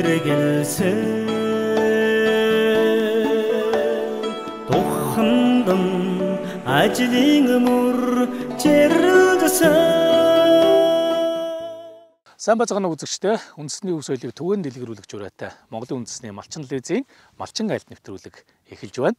эргэлсэн тухандан ажлын мөр чирлсэн. Сайн бацгаана үзэгчдээ үндэсний өв соёлыг түгээн дэлгэрүүлэх жураатай Монголын үндэсний малчин телевизийн малчин айлт нэвтрүүлэг эхэлж байна.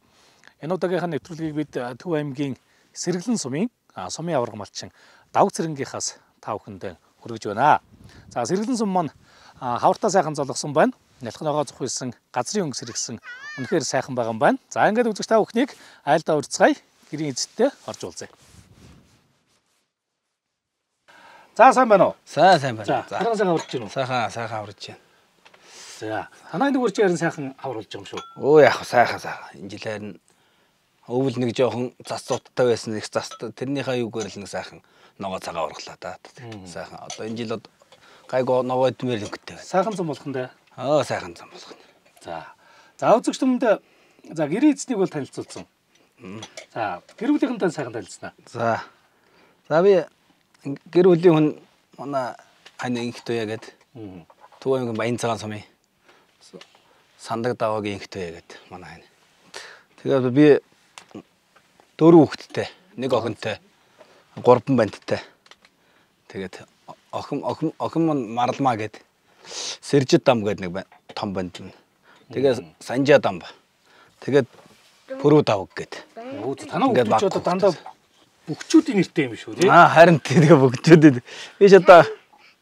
Энэ удаагийнхаа нэвтрүүлгийг бид Төв аймгийн Сэргэлэн сумын сумын аварга малчин Давг цэрэнгийнхаас та бүхэндээ хүргэж байна. За Сэргэлэн сум маань хавартаа сайхан золгосон байна. Нялхногоо зохиулсан, газрын өнгө сэргсэн үнэхээр сайхан байгаа юм байна. За ингээд үзэгч та бүхнийг айлдаа урьдцгаая. Гэрийн эзэдтэй орж уулзъя. За сайн байна уу? Сайн байна. За сайхан аварч байна уу? Сайхан аварч байна. За танай нэг үрч ярин сайхан авруулж байгаа юм шүү. Өө яг сайхан. Энэ жилээр нь өвөл нэг жоохон зас цуттай байсан их зас тэрнийхээ юугаар л нэг сайхан ногоо цагаа ургалаа да. Сайхан. Одоо энэ жил гайгүй ногоо идмээр өнгөтэй байна. Сайхан зам болох нь дээ. Сайхан зам болох нь. За үзэгч түмэнд за гэрийн эзнийг бол танилцуулсан. За гэр бүлийнхэнтэй сайхан танилцсанаа. За би гэр бүлийн хүн манай хань инхтөе гэдэг. Төв аймгийн Баян цагаан сумын Сандаг даваагийн инхтөе гэдэг манай хань. Тэгээд би 4 хүүхэдтэй, 1 охинтой, 3 банттай. Тэгээд охин маань Маралмаа гэдэг. Сэржид дам гэдэг нэг том банд. Тэгээд Санжаа дам. Тэгээд Пүрүү давг гэдэг. Танаа хүүхдүүд одоо дандаа бүгчүүдийн нэртэй юм шүү тий. Харин тэгээ бүгчүүд. Би ч одоо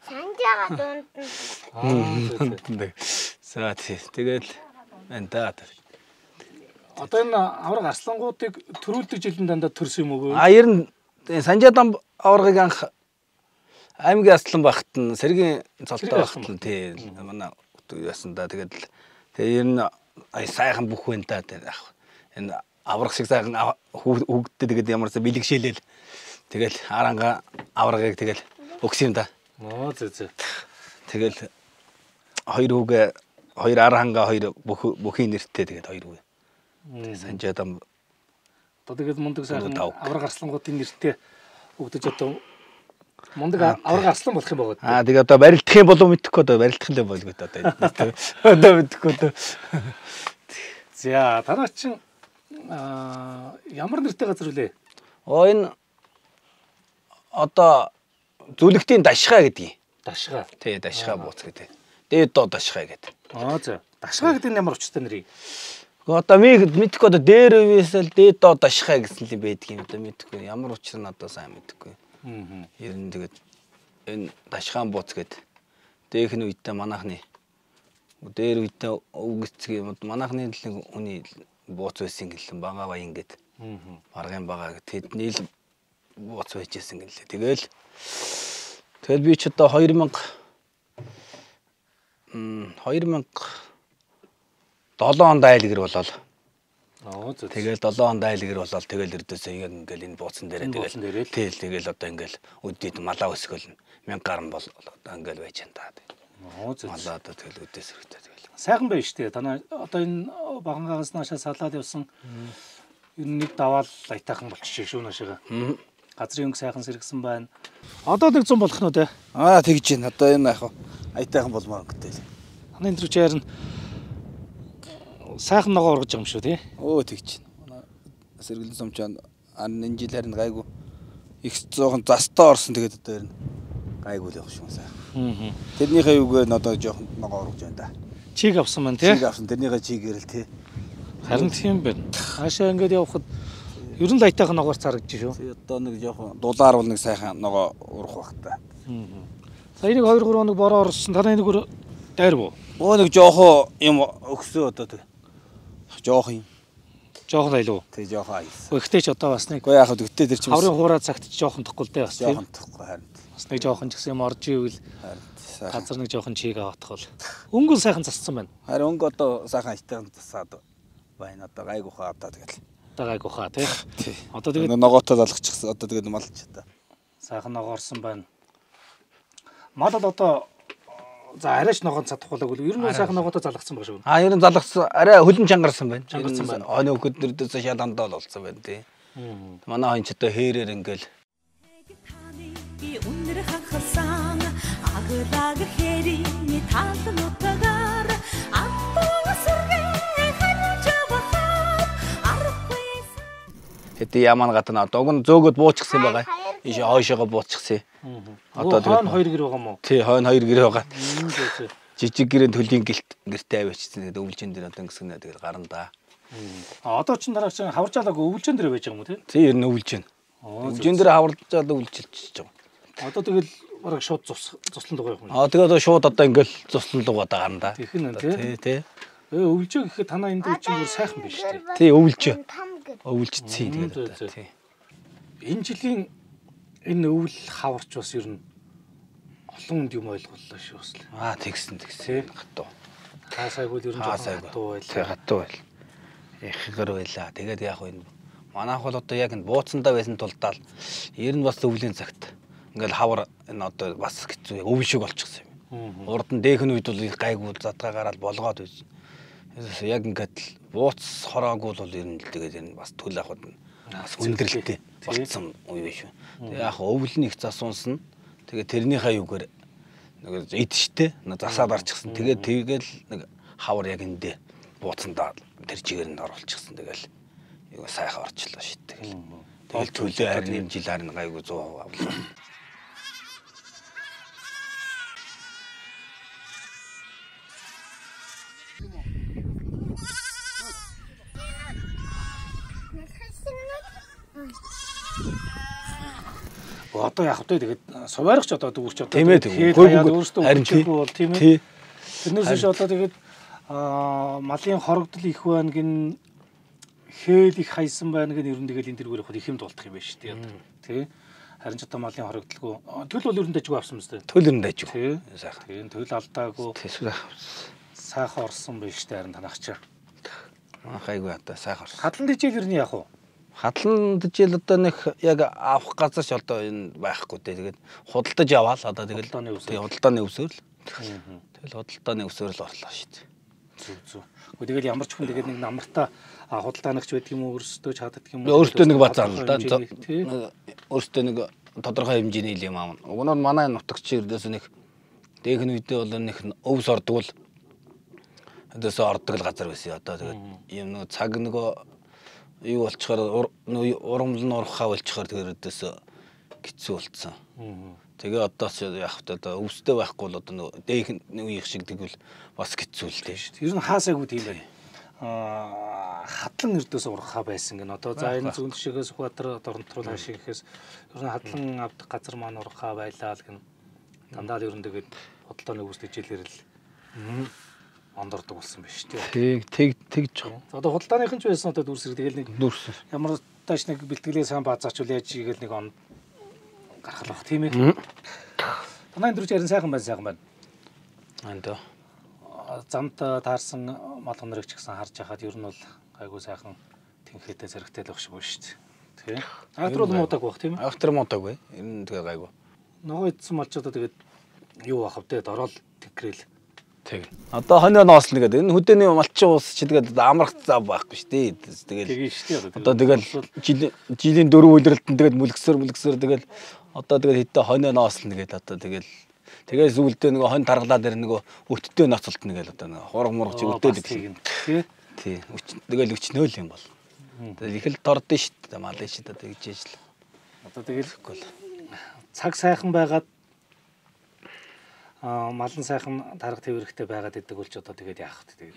Санжаага дунд. За тэгэл энэ одоо энэ авраг арслангуудыг төрүүлдэг жилийн дандаа төрсөн юм уу? Ер нь Санжаа дам аврагыг анх аймгийн аслан багт нь сэргийн цолтой багт нь тий манай яасан да тэгээд ер нь сайхан бүх байна да энэ авраг шиг сайхан хүүхдтэй тэгээд ямарсаа бэлгшээлэл тэгэл аранга аврагыг тэгэл өгсөн юм да. Зөө. Тэгэл хоёр хүүгээ хоёр аранга хоёр бүхийн нэртэй тэгээд хоёр хүүгээ. Санжаа дам одоо тэгээд мундаг сайхан авраг арслангуудын нэртэй өгдөж одоо мундаг авраг арслан болох юм байгаа. Тэгээд одоо барилдах юм болов мэдэхгүй одоо барилдах л болгүй одоо мэдэхгүй одоо. За танаа чин ямар нэртэй газар үлээ? Энэ одоо зүлэгтийн дашгаа гэдгийг. Дашгаа. Тий, дашгаа бууц гэдэг. Дээд доо дашгаа гэдэг. За. Дашгаа гэдэг нь ямар учиртай нэр? Одоо мэдхгүй одоо дээр үесэл дээд доо дашгаа гэсэн л байдгийг одоо мэдхгүй. Ямар учир нь одоо сайн мэдхгүй. Ер нь тэгээд энэ дашгаан бууц гэдэг. Дээх нь үедээ манайхны дээр үедээ өвгцгийг манайхны л хүний бууц байсан гэлэн бага баян гэдэг. Маргын бага гэдэг. Тэдний л бууц байжсэн гэлээ. Тэгэл би ч одоо 2007 онд айлгэр болол. Тэгэл 7 онд айлгэр болол тэгэл эрдээсээ ингээл энэ бууцсан дээрээ тэгэл одоо ингээл өдөөд малаа өсгөл 1000 гаруй бол одоо ингээл байж энэ та. Малаа одоо тэгэл өдөөс хэрэгтэй тэгэл. Сайхан байна шүү дээ. Танаа одоо энэ багангаас наашаа салаад явсан энэ нэг даваал лайтайхан болчих шүү наашаага. Газрын өнгө сайхан сэргсэн байна. Одоо нэг 100 болох нь үү те? Тэгж байна. Одоо энэ яах вэ? Аятайхан болмоор өнгөтэй. Ханы энэ төрчээр нь сайхан ногоо ургаж байгаа юм шүү тий? Тэгж байна. Сэргэлэн сумчаан энэ жилээр нь гайгүй их зоохон застаа орсон тэгээд одоо ер нь гайгүй л явах шүү сайхан. Тэрнийхээ юугаар нь одоо жоохон ногоо ургаж байна да. Чиг авсан маань тий? Чиг авсан. Тэрнийхээ чигээр л тий. Харин тийм байна. Хаашаа ингээд явхад ер нь лайтайхан ногоор царагдчих шүү. Одоо нэг жоохон дулаар бол нэг сайхан ногоо урах бах та. Сая нэг 2 3 хоног бороо орсон. Танай нэг дайр буу. Нэг жоохон юм өгсөө одоо тэг. Жоохон айлуу. Тэг жоохон айс. Гэхдээ ч одоо бас нэг яах вэ гэтээ тэр чинь хаврын хуурай цагт жоохон тохгүй л дээ бас тийм. Жоохон тохгүй харин. Бас нэг жоохон ч гэсэн юм орж ивэл газар нэг жоохон чиг аваадах бол. Өнгө сайхан зассан байна. Харин өнгө одоо сайхан айтайхан засаад байна. Одоо гайгуухаа одоо тэгэл. Гайгуухаа тий. Одоо тэгээд ногоотой залгачихсан. Одоо тэгээд малч та. Сайхан ногоорсон байна. Мал бол одоо за арайч ногоон цадахгүй л ер нь сайхан ногоотой залгацсан баг шүү. Ер нь залгацсан. Арай хөлн чангарсан байна. Чангарсан байна. Оны өкөдөрдөөс шаландаа л болсон байна тий. Манай хонч одоо хээрээр ингээл Өнөр хахсан аглаг хэри талнутгаар Хэдий ямаа гадна одоо уг нь зөөгөөд буучихсан байгаа. Иш хойшоогоо буучихсан. Одоо хойно 2 гэр байгаа мó. Тий, хойно 2 гэр байгаа. Жижиг гэрэн төлийн гэртээ авчихсан. Тэгээд өвлжин дээр одоо ингэснэ тэгээд гарна да. Одоо ч дараа чинь хаваржаалаг өвлжин дээр байж байгаа юм уу тий? Тий, ер нь өвлжин. Өвлжин дээр хаваржаал өвлжилж байгаа. Одоо тэгэл бараг шууд цуслан дугаа юм. Тэгээд одоо шууд одоо ингээл цуслан дугаа гарна да. Тэгэх нь тий. Тий. Өвлжөө гэхэд танаа энэ дээр чинь сайхан биш тий. Тий, өвлжөө. Өвлжцээ тэгээд тий. Энэ жилийн энэ өвл хаварч бас ер нь олон хүнд юм ойлголоо шүү бас. Тэгсэн. Хатуу. Хаасайгүй ер нь хатуу байл. Тий, хатуу байл. Ихгэр байла. Тэгээд яг энэ манайх бол одоо яг энэ бууцсандаа байсан тулдаал ер нь бас өвлийн цагт ингээл хавар энэ одоо бас хэцүү өв шиг болчихсон юм. Урд нь дээх нь үед бол гайгүй задгаа гараад болгоод байсан. Яг ингээд бууц хороогүй бол ер нь тэгээд энэ бас төл авахд бас хүндрэлтэй болцсон үе биш үү. Тэгээд яг өвл нь их засуунсан. Тэгээд тэрнийхээ юугаар нэг идштэй засаад арчихсан. Тэгээд нэг хавар яг эндээ бууцсандаа тэр чигээр нь оруулчихсан. Тэгэл юу сайхан орчлоо шүү дээ. Тэгэл төлөө харин жил харин гайгүй 100% авлаа. Одоо яг хөтөө тэгээд суваарч одоо дүүрч одоо өөрөөсөө харин бол тийм ээ. Тэрнээс биш одоо тэгээд малын хорогдол их байна гин хээл их хайсан байна гэн ер нь тэгэл энэ дэргээр явахад их юм дуулдах юм байна шүү дээ. Тий. Харин ч одоо малын хорогдолгүй төл бол ер нь дайжгүй авсан мэт. Төл ер нь дайжгүй. Тий. Сайхан. Төл алдаагүй. Сайхан орсон байна шүү дээ харин танах чаа. Гайгүй одоо сайхан орсон. Хадлан дижээл ер нь яах вэ? Хадлан дижээл одоо нэг яг авах газар ч одоо энэ байхгүй дээ. Тэгээд худалдаж аваал одоо тэгэл худалдааны өвсөөр л. Тэгэл худалдааны өвсөөр л орлоо шүү дээ. Зүг. Тэгэл ямар ч хүн тэгээд нэг намартаа худалдаанагч байдаг юм уу өөрсдөө чаддаг юм уу? Өөртөө нэг базар л да. Өөртөө нэг тодорхой хэмжээний юм аав. Уг нь манай нутагч ердөөс нэг дээх нь үедээ бол нэг өвс ордог л өдөөс ордог л газар байсан. Одоо тэгээд юм нэг цаг нөгөө юу болчихоор урамл нь урахаа болчихоор тэгээд өдөөс хэцүү болцсон. Тэгээ одоо яг одоо өвстэй байхгүй бол одоо дээх үеих шиг тэгвэл бас хэцүү л дээ шүү дээ. Ер нь хаасаагүй тийм байна. Хадлан эрдөөс урахаа байсан гэн. Одоо за энэ зүүн тишээс Сүхбаатар Дорнотруул хаашиг гэхээс ер нь хадлан авдаг газар маань урахаа байлаа л гэн. Дандаа л ер нь тэгээд бодлооны өвс дижээлэр л ондордог болсон байна шүү дээ. Тэгж байгаа. Одоо худалдааныхан ч байсан одоо дүрсэр тэгэл нэг ямар тааш нэг бэлтгэлээ сайн баазаачвал яаж игээл нэг он гаргалах тийм ээ. Танай дөрөж ярин сайхан байна. Андаа. Замд таарсан мал хонорыг ч гэсэн харж байхад ер нь бол гайгүй сайхан тэнхээтэй зэрэгтэй л байх шиг байна шүү дээ. Тий. Агтар бол муудаг байх тийм ээ. Агтар муудаг бай. Ер нь тэгээ гайгүй. Нөгөө идсэн малчуудаа тэгээд юу бах вэ? Дорол тэнхрээл. Тэг. Одоо хоньоо ноослно гэдэг. Энэ хөдөөний малчин уус чи тэгээд амрах зав байхгүй шүү дээ. Тэгээд одоо тэгэл жилийн 4 үйлрэлтэн тэгээд мүлгсээр тэгэл одоо тэгээд хэдэн хоньоо ноослно гэдэг одоо тэгээд зүйлдээ нөгөө хонь таргалаад ирнэ нөгөө өттэй ноцолтно гэдэг одоо нөгөө хург мург чи өтөөд гэдэг. Тий. Тэгэл өчнөөл юм бол. Тэгээд их л тордсон шүү дээ. Малын шүү дээ тэгж ижил. Одоо тэгэлгүй л цаг сайхан байгаад малын сайхан тарга тэврэхтэй байгаад идэг болж одоо тэгээд яах вэ? Тэгээд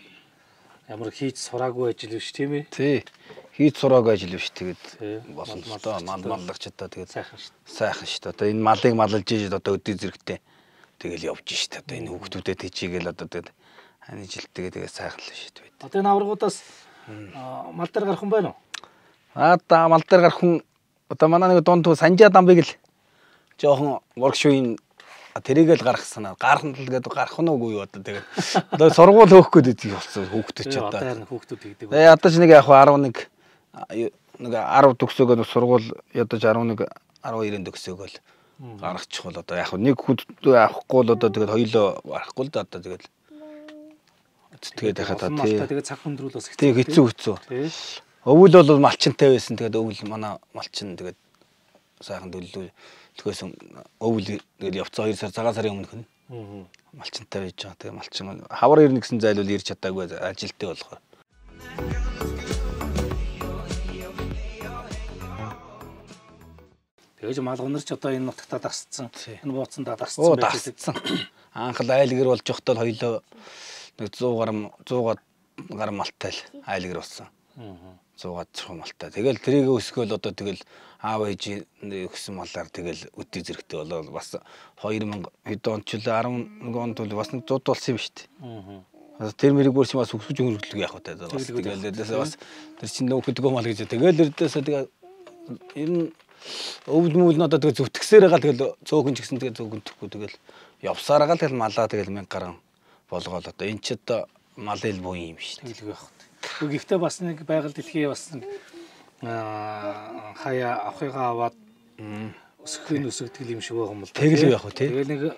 ямар хийж сураагүй ажил биш тийм ээ? Тий. Хийж сураагүй ажил биш тэгээд болсон л доо маллагч одоо тэгээд сайхан шүү дээ. Одоо энэ малыг маллж ийж одоо өдөө зэрэгтэй тэгэл явж шүү дээ. Одоо энэ хүүхдүүдэд тийчгээл одоо тэгээд хань жилтэйгээ тэгээд сайхан л шүү дээ. Одоо энэ аврагуудаас мал дээр гарах хүн байна уу? Одоо мал дээр гарах хүн одоо манай нэг дунд Санжаа дамбыг л жоохон воркшопын тэрийг л гаргах санаа. Гарах нь л гэдэг гарах нь үгүй юу одоо тэгээд одоо сургууль хөөх гээд идэх болсон хүүхдүүд ч одоо. Одоо хүүхдүүд хийдэг. Одоо ч нэг яг 11 10 төгсөөгөө сургууль ядаж 11 12-ын төгсөөгөө л гаргачих бол одоо яг нэг хүүхдээ авахгүй л одоо тэгээд хоёулаа барахгүй л да одоо тэгээд яхаа та тэгээд цаг хүндрүүл бас хэцүү. Өвөл бол малчинтай байсан. Тэгээд өвөл манай малчин тэгээд сайхан төлөө тэгээс өвөл тэгэл явцаа 2 сар цагаан сарын өмнөх нь малчинтай байж байгаа. Тэгээ малчин хавар ирнэ гэсэн зайлвал ирж чадаагүй ажилттай болохоор. Тэгэж малгунарч одоо энэ нутагтаа дасцсан. Энэ бууцандаа дасцсан Оо байж дасцсан. Анх л айлгэр болж явахдаа хоёлоо нэг 100 гар малтай л айлгэр болсон. 100 цорхон малтай. Тэгэл тэрийг өсгөөл одоо тэгэл аав ээж өгсөн малаар тэгэл өдөө зэрэгтэй болоод бас 2000 хэд онд ч 11 онд бас нэг 100 болсон юм шүү дээ. Тэр мэрийг бүрс бас өсгөж хөргөлдөг яах вэ? Тэгэл бас тэр чинь нөхөдгөө мал гэж. Тэгэл эрдээсээ тэгээ ер нь өвөл мөвөл нь одоо тэгээ зүтгэсээр байгаа тэгэл цөөхөн ч гэсэн тэгээ зүгэнтэхгүй тэгэл явсараа гал тэгэл малаа тэгэл 1000 гаруй болгоол одоо энэ ч одоо малын буу юм шүү дээ. Тэглэг явах. Гэхдээ бас нэг байгаль дэлхий бас нэг хаяа авахыгаа аваад өсгдөг юм шиг байгаа юм л. Тэглэг явах тий. Тэгээ нэг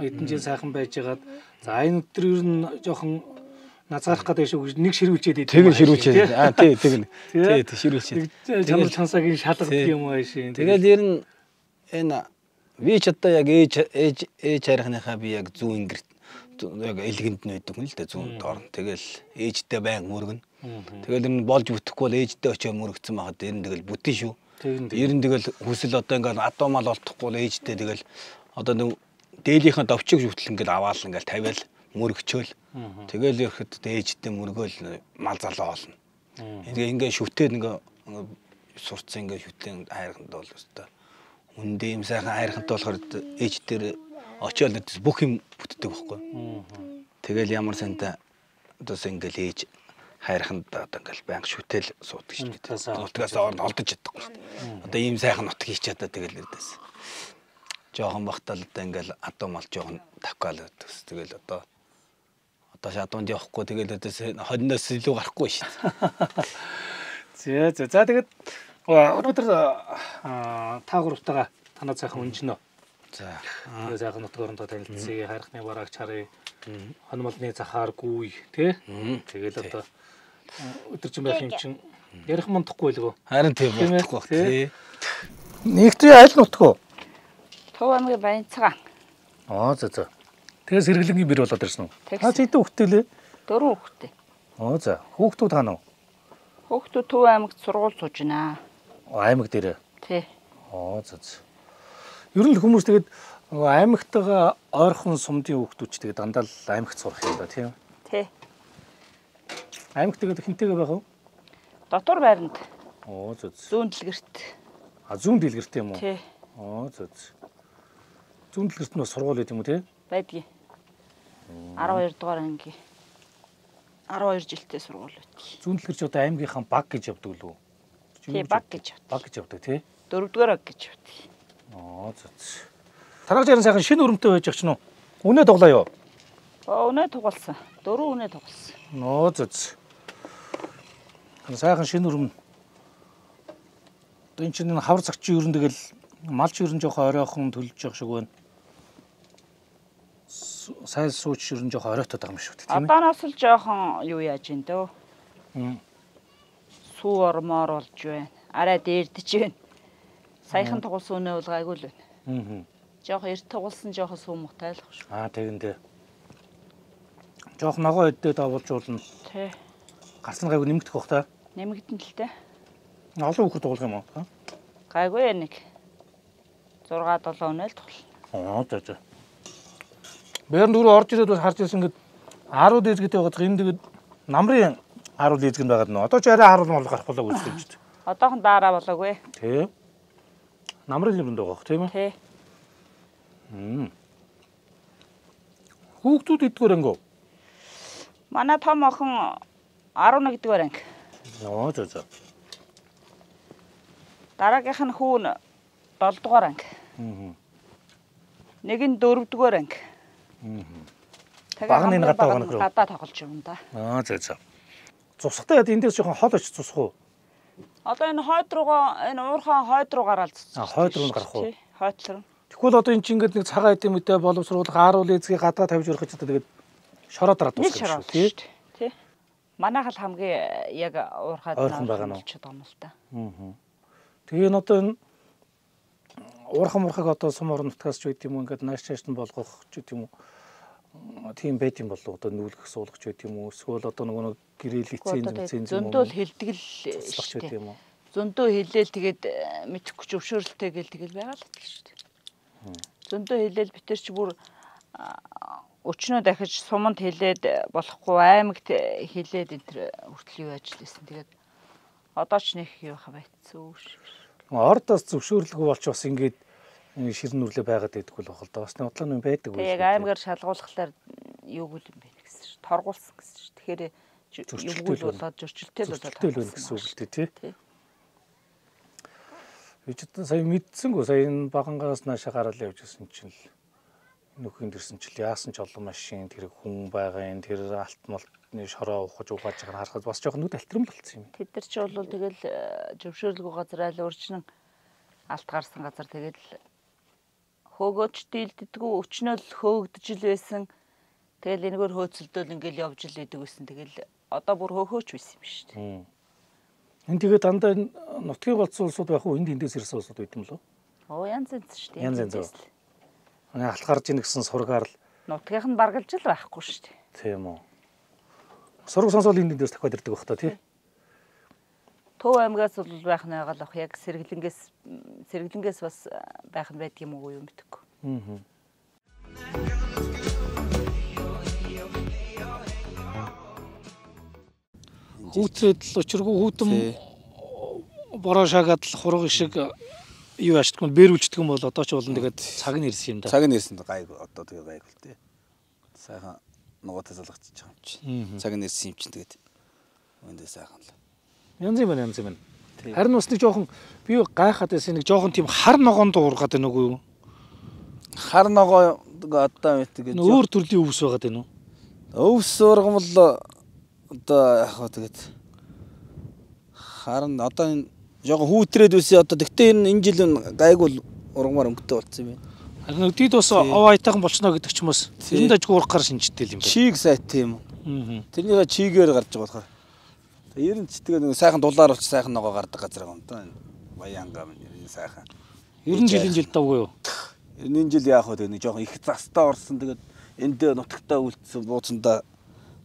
эдэн жил сайхан байжгаад за энэ өдөр ер нь жоохон назаарах гэдэг шиг нэг ширүүлчээд идэв. Тэгэн ширүүлчээд. Тий тэгнэ. Тий ширүүлчээд. Чанар чансагийн шалгадаг юм аа шин. Тэгэл ер нь энэ би ч одоо яг ээж харихныхаа би яг зүүн ингэрт яг элгэнд нь байдаг юм л да зүүн доор. Тэгэл ээжтэй байн мөргөн. Тэгэл энэ болж бүтэхгүй бол ээжтэй очиж мөрөгцсөн байхад ер нь тэгэл бүтэн шүү. Ер нь тэгэл хүсэл одоо ингээд адуу мал олдохгүй бол ээжтэй тэгэл одоо нэг дээлийнхаа довчиг зүтэл ингээд аваал ингээд тавиал мөрөгчөөл. Тэгэл ирэхэд ээжтэй мөргөөл мал залуу олно. Ингээд шүтээд ингээд сурцсан ингээд шүтэн хайрханд бол өстой. Үндэ юм сайхан хайрханд болохоор ээж дээр очиод бүх юм бүтдэг байхгүй. Тэгэл ямар санта одоос ингээл ээж хайрханд одоо ингээл байнга шүтэл суудаг шүү дээ. Нутгаас олдож чадахгүй шүү дээ. Одоо ийм сайхан нутг хийчихэд тэгэл ирдээс. Жохон бахтал одоо ингээл адуу мал жохон тавкаал өдөөс. Тэгэл одоо шатуунд явахгүй тэгэл өдөөс хонноос илүү гарахгүй шүү дээ. За тэгээд өнөөдөр та гуравтайгаа танаа сайхан үнжнөө. За сайхан нутг орондоо танилцъя. Хайрхны бараагч харъя. Хонмолны захаар гүй тий. Тэгэл одоо өдөржин байх юм чинь ярих мундахгүй л гоо. Харин тийм болохгүй тий. Нэгтэй аль нутг вэ? Төв аймгийн Баянцгаан. За. Тэгээ сэргэлэнгийн бэр болоод ирсэн үү? Та хэдэн хүүхэдтэй лээ? 4 хүүхэдтэй. За. Хүүхдүүд хаана вэ? Хүүхдүүд Төв аймагт сургууль сууж байна. Аймаг дээр. Тий. За. Ер нь хүмүүс тэгээд аймагтайгаа ойрхон сумдын хүүхдүүд ч тэгээд дандаа л аймагт сурах юм да тийм. Тий. Аймагт тэгээд хинтэйгээ байх уу? Дотор байранд. За. Зүүн дэлгэрт. Зүүн дэлгэрт юм уу? Тий. За. Зүүн дэлгэрт нь сургууль гэдэг юм уу тий? Байдгийг. 12 дугаар анги. 12 жилтэй сургууль байдаг. Зүүн дэлгэрч одоо аймгийнхаа баг гэж явдаг л үү? Тий, баг гэж явдаг. Баг гэж явдаг тий? 4 дугаар баг гэж явдаг. За. Тарагч яран сайхан шинэ өрөмтэй байж ч нь үү? Үнэ тоглоё. Үнэ тоглосон. 4 үнэ тоглосон. За. Сайхан шинэ өрөм. Одоо энэ чинь хавар цагчийн өрөн тэгэл малч өрөн жоохон оройхон төлж явах шиг байна. Сайн сууч өрөн жоохон оройтод байгаа юм шүү дээ тийм ээ. Одооноос л жоохон юу яаж ин дөө. Сүү ормоор болж байна. Арай дээрдэж байна. Саяхан тоглосон үнэ бол гайгүй л байна. Жоохон эрт тоглосон жоохон сүү муутай л шүү. Тэгэндээ. Жоохон ногоо өдөө давуулж уулна. Тий. Гарсан гайгүй нэмэгдэх бах та. Нэмэгдэн л дээ. Олон хүүхэд тоглох юм уу? Гайгүй нэг 6-7 үнэ л тоглоно. За. Бэрэн дөрөв орж ирээд бас харж ирсэн ингээд 10 дээзгэтэй байгаад энэ тэгээд намрын 10 дээзгэнд байгаад нөө. Одоо ч арай 10 мал гарах болоо үзэж байна. Одоохон дараа болоогүй. Тий. Намрын юмд байгаа тийм ээ? Тий. Хүүхдүүд эдгээр ангөө. Манай том охин 11 дугаар анги. За. Дараагийнх нь хүүн 7 дугаар анги. Нэг нь 4 дугаар анги. Баг нь энэ гадаа байгаа нөхрөө. Гадаа тоглож юм да. За. Цусгатай яд эндээс жоохон хол очиж цусах уу? Одоо энэ хойд руугаа энэ уурхаан хойд руу гараад цусах. Хойд руу гарах уу? Хойд руу. Тэгвэл одоо энэ чинь ингээд нэг цагаан эдэм үедээ боловсруулах 10 лэзгийг гадаа тавьж өрөх гэж тэгээд шороо дараад дуусгах шүү тий. Манайх л хамгийн яг уурхаад болчиход байгаа юм л та. Тэгээ энэ одоо энэ уурхам одоо сум орон нутгаас ч байд юм уу ингээд нааш чааш нь болгох ч гэдэм үү. Тийм байт юм болов одоо нүүлгэх суулгах ч байт юм уу. Эсвэл одоо нөгөө гэрэл лиценз юм уу. Зөндөл хилдэг л шүү дээ юм уу. зөндөө хэлээл тэгээд мэдхгүй ч өвшөөрөлтэй гэл тэгэл байгаа л гэдэг шүү дээ. Зөндөө хэлээл битэр чи бүр өчнөө дахиж суманд хэлээд болохгүй аймагт хэлээд энэ төр хүртэл юу ажил хийсэн. Тэгээд одоо ч нэг юу хавайцсан шүү. Ордоос зөвшөөрлөгөө болж бас ингээд ширэн нүрлээ байгаад байдаг бол бохол да. Бас нэг бодлоо юм байдаг үү? Яг аймгаар шалгуулахлаар юуг л юм бэ гэсэн шүү. Торгуулсан гэсэн шүү. Тэгэхээр юуг л болоод зөрчилтэй л болоод гэсэн үг л тий. Ичдэн сая мэдсэнгүү сая энэ багангаас наашаа гараад явж ирсэн чинь л нөхөн дэрсэн чил яасан ч олон машин тэр хүн байгаа энэ тэр алт малтны шороо ухаж угааж байгаа харахад бас жоохон нүд алтран болцсон юм. Тэд нар ч бол тэгэл зөвшөөрлөгөө газар айл урьдчилан алт гарсан газар тэгэл хөөгөөч дийлддэггүй өчнөө л хөөгдөж л байсан. Тэгэл энэгээр хөөцөлдөөл ингээл явж л идэг байсан. Тэгэл одоо бүр хөөхөөч байсан юм шүү дээ. Энэ тэгээд дандаа нутгийн голцсон улсууд байх уу? Энд эндээс ирсэн улсууд байт юм лөө? Оо янз янз шүү дээ. Янз янз. Алт гарж ийн гэсэн сургаар л нутгийнх нь баргалж л байхгүй шүү дээ. Тийм үү. Сураг сонсоол энд эндээс дахиад ирдэг байх та тий. Төв аймгаас бол байх нь байгаа л ах яг сэргэлэнгээс бас байх нь байдаг юм уу юу мэдэхгүй. Хүүтрээд л учиргүй хүүтэн бороо шагаад л хураг шиг юу яачдаг юм бэрүүлждэг юм бол одоо ч болно тэгээд цаг нь ирсэн юм да. Цаг нь ирсэн гайг одоо тэгээ гайг л тий. Сайхан нугатаа залгацчих юм чи. Цаг нь ирсэн юм чи тэгээд өндөө сайхан л. Янз юм. Харин бас нэг жоохон би гайхаад байсан нэг жоохон тийм хар ногоон дуургаад байна уу юу? Хар ногоо одоо мэдээ гэж. Өөр төрлийн өвс байгаад байна уу? Өвс ургам л одоо яг хаа тэгээд харин одоо энэ жоохон хүүтрээд үсээ одоо тэгтээ энэ жил гайгүй ургамаар өнгөтэй болцсон юм байна. Харин өдөрт бас овоо айтайхан болчихно гэдэг ч юм уус. Эрэнд ажиг уурахаар шинжтэй юм байна. Чиг сайт тийм. Тэрнийгээ чигээр гарч байгаа болохоор. Ер нь ч тэгээ нэг сайхан дулаар болч сайхан ногоо гардаг газар байгаа юм даа. Баянгаа энэ сайхан. 90 жилийн жил давгүй юу? 90 жил яах вэ тэгээ нэг жоохон их застаа орсон тэгээд энд нутагтаа үлдсэн бууцандаа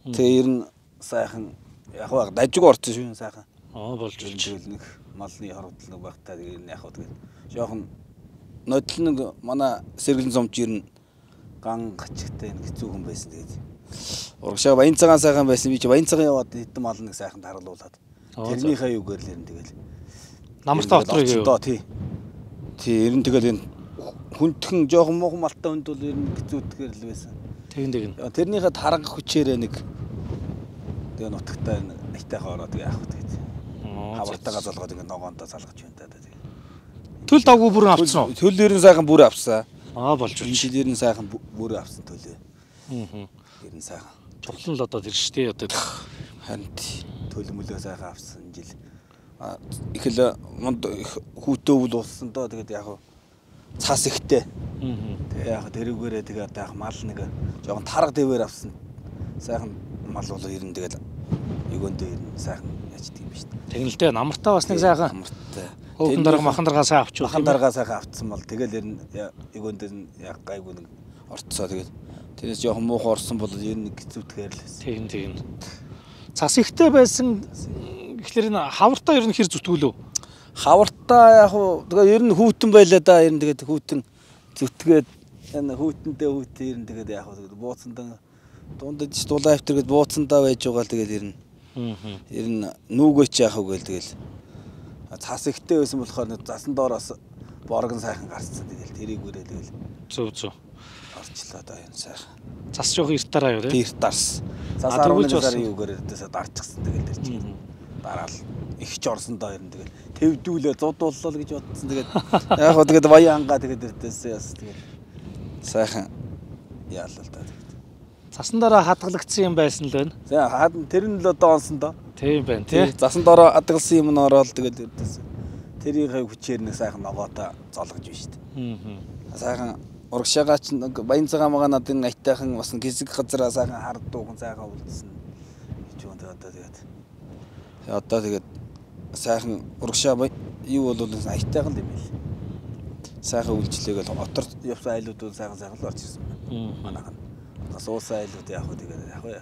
тэгээ ер нь сайхан яг баг дажиг орсон шүү сайхан. Болж тэгэл нэг малны хорогдол нэг багтаа тэгээ яг баг тэгээд жоохон нодлон нэг манай сэргэлэн зомч ер нь ган гачигтай нэг хэцүү хүн байсан тэгээд урагшаа баян цагаан сайхан байсан би чи баян цагаан яваад хэдэн мал нэг сайхан таруулуулаад тэрнийхээ юугаар л ер нь тэгэл намартаа отрыг юу тий ер нь тэгэл энэ хүндхэн жоохон муухан малтай хүнд бол ер нь хэцүүтгэр л байсан тэгин тэрнийхээ тарга хүчээрээ нэг тэгээ нутагтаа айтайхаа ороод яах вэ тэгээд хавартагаа залгаад ингэ ногоондоо залгаж байна да тэгээд төл давгүй бүрэн авцсан уу? Төл ер нь сайхан бүр авсан. Болж байна. Жил ер нь сайхан бүр авсан төлөө. Ер нь сайхан. Чухлан л одоо тэр штэ одоо харин төлөв мөлөө сайхан авсан жил. Их л хүүтөө үл уулсан доо тэгээд яг цаас ихтэй. Тэгээ яг тэрүүгээрээ тэгээд яг мал нэг жоохон тарга дэвээр авсан. Сайхан мал бол ер нь тэгээд өгөөндөө ер нь сайхан яждаг юм шүү дээ. Тэгнэлтэй намартаа бас нэг сайхан. Намартай. Хөөхөн дарга махан даргаа сайн авч махан даргаа сайхан авцсан бол тэгэл ер нь өгөөндөө яг гайгүй нэг орцоо тэгээд тэрээс жоохон муухан орсон бол ер нь хэцүүтгээр л байсан. Тийм. Цас ихтэй байсан гэхлээр энэ хавартаа ер нь хэр зүтгүүлв? Хавартаа яг тэгээ ер нь хүүтэн байлаа да ер нь тэгээд хүүтэн зүтгээд энэ хүүтэндээ хүүтэн ер нь тэгээд яг бууцандаа дундаж дулаа автэр гээд бууцандаа байж байгаа л тэгээд ер нь нүүгөөч яах вэ гээл тэгэл цас ихтэй байсан болохоор засан доороос боргон сайхан гарцсан тэгэл тэрийгүүрээ тэгэл зөв орчлоо да энэ сайхан цас жоох эртараа юу тий эрт дарс цас 11 сарын юугаар дэсээ дарчихсан тэгэл тэр чинь дараал их ч орсон доо ер нь тэгэл тэвдүүлээ зудууллаа гэж бодсон тэгээд яг хоо тэгээд баянгаа тэгээд дэсээ яс тэгээд сайхан яалаа л да цасан дараа хадгалагдсан юм байсан л байна. За тэр нь л одоо онсон доо. Тийм байна тий. Засан дараа хадгалсан юм нь ороод тэгэл дэс. Тэрийнхээ хүчээр нэг сайхан ногоотой золгож байна шүү дээ. Сайхан урагшаагаа ч баян цагаан магаа надын айтайхан бас гисэг газараа сайхан хардуухан сайхан үлдсэн. Гэж байна одоо тэгээд. Одоо тэгээд сайхан урагшаа юу бол айтайхан л юм байл. Сайхан үйлчлэгээл отор явсан айлууд бол сайхан л орж ирсэн байна. Манайхан суусаа айлууд яг хөө тэгээд яг уу.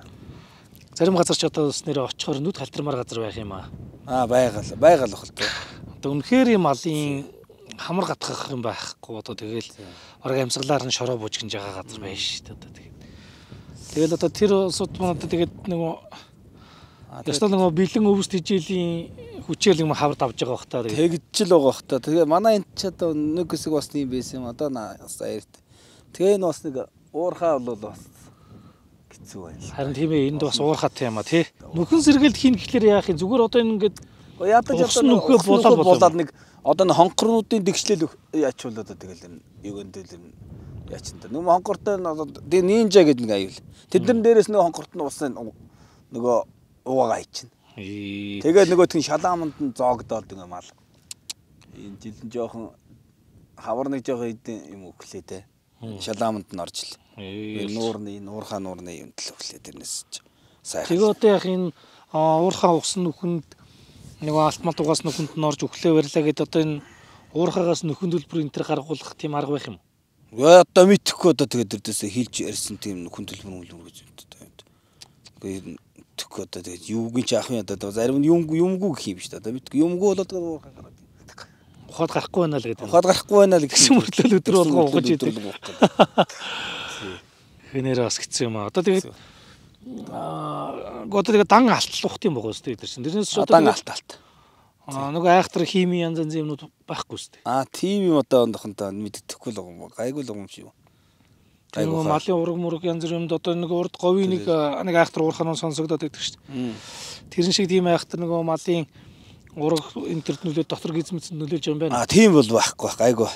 Зарим газар ч одоо бас нэр очихоор нүд халтрамаар газар байх юм аа. Байгаал бохолтой. одоо үнэхээр юм малын хамар гатгах юм байхгүй одоо тэгэл бараг амьсгалаар нь шороо бууж гинж байгаа газар байна шүү дээ одоо тэгэл одоо тэр улсууд маань одоо тэгээд нөгөө ястал нөгөө бэлэн өвс тижээлийн хүчээр юм хавар давж байгаа бах та тэгж л байгаа бах та тэгээ манай энэ ч одоо нэг хэсэг бас тийм байсан юм одоо саярт тэгээ энэ бас нэг уурхаа бол бас хэцүү байна харин тийм ээ энд бас уурхаатай юм а тий нөхөн сэргэлт хийн гэхлээр яах юм зүгээр одоо ингээд ядаж одоо болоод нэг одоо н хонхорнуудын дэгшлэл яачуулаад тэгэл юу гэнтэл яачин та нүм хонхортой нинжа гэдэг нэг аюул тэднэр дээрээс нөгөө хонхорт нь усан нөгөө уугаа ичнэ тэгээд нөгөөт нь шалааманд нь зоогдоод ингээ мал энэ жил нь жоохон хавар нэг жоохон юм өглөө те шалааманд нь орж л нуурхаа нуурны юм тэл өглөө тэрнээс сайхан тэгээ одоо яг энэ уурхаа усан нүхэнд нөгөө алтмал дугаас нүхэнд нь орж өглөө барьлаа гэдэг одоо энэ уурхаагаас нүхэн төлбөр энэ төр гаргуулах тийм арга байх юм уу одоо мэдхгүй одоо тэгээд дэрдээсээ хилж ярьсан тийм нүхэн төлбөр гэж юм тэгэхгүй одоо тэгээд юугийн ч ах юм одоо зарим нь юмгүй гэх юм шүү дээ одоо мэдгүй юмгүй болоод ухаад гарахгүй байна л гэдэг ухаад гарахгүй байна л гэсэн мөрлөл өдөр болгоо угаж идэг хэнээр бас хэцүү юм аа одоо тэгээд одоо тэгээд дан алтлах тийм байгаа шүү дээ тэр чинь тэрнээс одоо дан алт нөгөө айхтар хими янз янзын юмнууд байхгүй шүү дээ тийм юм одоо ондохонтой мэддэхгүй л юм гайгүй л юм шиг нөгөө малын ураг мураг янз бүрийн одоо нэг урд говийн нэг айхтар уурханаа сонсогдоод байдаг шүү дээ тэрэн шиг тийм айхтар нөгөө малын ураг интернет нөлөөд дотор гизмэцэнд нөлөөлж юм байна тийм бол байхгүй гайгүй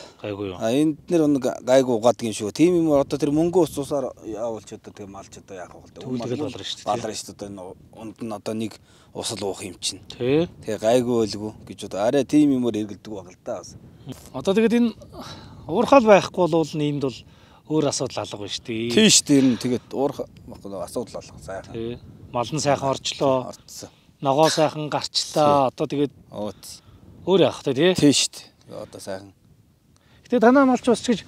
юу энд нэр нэг гайгүй угаадаг юм шүү тийм юм одоо тэр мөнгө усаар явуулч одоо тэгээ малч одоо яах вэ түүлгээл болроо шүү дээ балраа шүү дээ унд нь одоо нэг усал уух юм чинь тэгээ гайгүй байлгүй гэж одоо арай тийм юмор эргэлдэг баг л да одоо тэгээд энэ уурхаал байхгүй бол энд бол өөр асуудал алга байна шүү дээ тийм шүү дээ тэгээд уурх асуудал алга сайхан мал нь сайхан орчлоо ногоо сайхан гарчлаа одоо тэгээд өөр яах вэ тий шүү дээ одоо сайхан гэтээ танаа малч бас ч гэж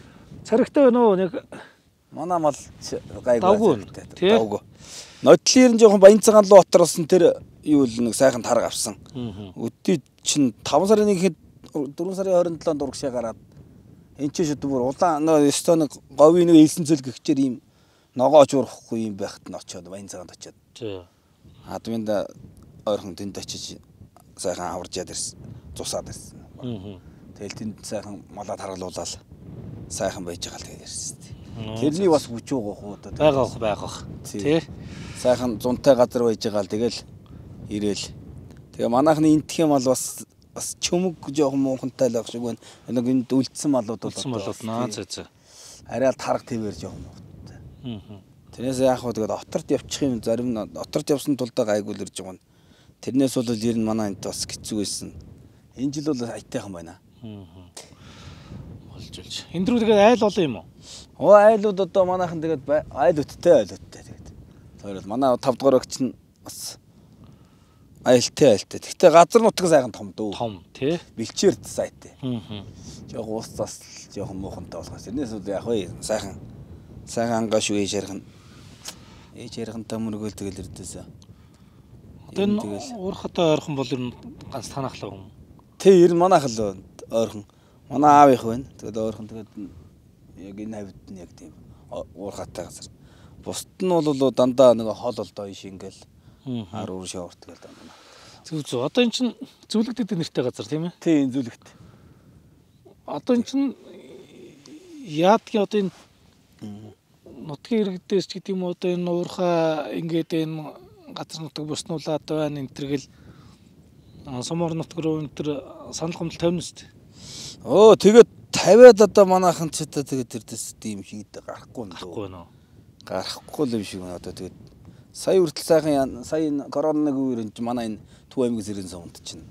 царигтай байна уу нэг манай мал гайгүй давгүй нодлын жоохон баян цагаан руу отролсон тэр юу л нэг сайхан тарга авсан өдөө чинь 5 сарын 1-нд 4 сарын 27-нд урагшаа гараад энэ ч шүүд бүр улаан өстөө нэг говийн нэг элсэн цөл гихчээр ийм ногооч урахгүй юм байхад нь очиод баян цагаанд очиод админд ойрхон тэнд очиж сайхан аваржаад ирсэн цусаад ирсэн тэгэл тэнд сайхан малаа таргалуулаад сайхан байж байгаа л тэгээд ирсэн тэрний бас хүч байгаа хөө байгаа тий сайхан зунтай газар байж байгаа л тэгэл ирээл тэгээ манайхны энтхийн мал бас чөмөг жоохон муухантай л байх шиг байна нэг энд үлдсэн малууд наа зөө арай л тарга твээр жоохон муухантай тэрнээс яах вэ тэгээд оторт явчих юм зарим нь оторт явсан тулдаа гайгүй л ирж байгаа нь тэрнээс бол ер нь манай энд бас хэцүү байсан энэ жил бол айтайхан байна болж энэ дөрөв тэгээд айл олон юм уу айлууд одоо манайхан тэгээд айлуудтай тэгээд тэр бол манай 5 дугаар багч нь бас айлтай гэхдээ газар нутаг сайхан том дөө том тий бэлчээр сайтай жоох уус зас жоохон муухантай болохоос тэрнээс бол яг вэ сайхан ангаш уу ээж ярихантай мөргөөл тэгэл ирдээсээ одоо энэ уурхатай ойрхон бол ер нь ганц танахлаа юм тий ер нь манайх л ойрхон манай аав их байна тэгээд ойрхон тэгээд яг энэ хавьд нь яг тийм уурхатай газар бусд нь бол дандаа нэг хол олдоо иш ингээл ар уур шаварт гээл дандаа зүг одоо эн чин зүлэгдэд нэртэй газар тийм ээ тий энэ зүлэгт одоо эн чин яадгийн одоо энэ нутгийн иргэдээс ч гэдэг юм одоо энэ уурхаа ингээд энэ газар нутаг буснуулаад байна энэ төргөл сумор нутаг руу энэ төр санал гомдол тавина шүү дээ тэгээд тавиад одоо манайхан ч одоо тэгээд тэрдээс тийм шиг гарахгүй нөө гарахгүй л юм шиг байна одоо тэгээд сая хүртэл сайхан сая коронавиг үеэр манай энэ Төв аймгийн сэрийн сумд чинь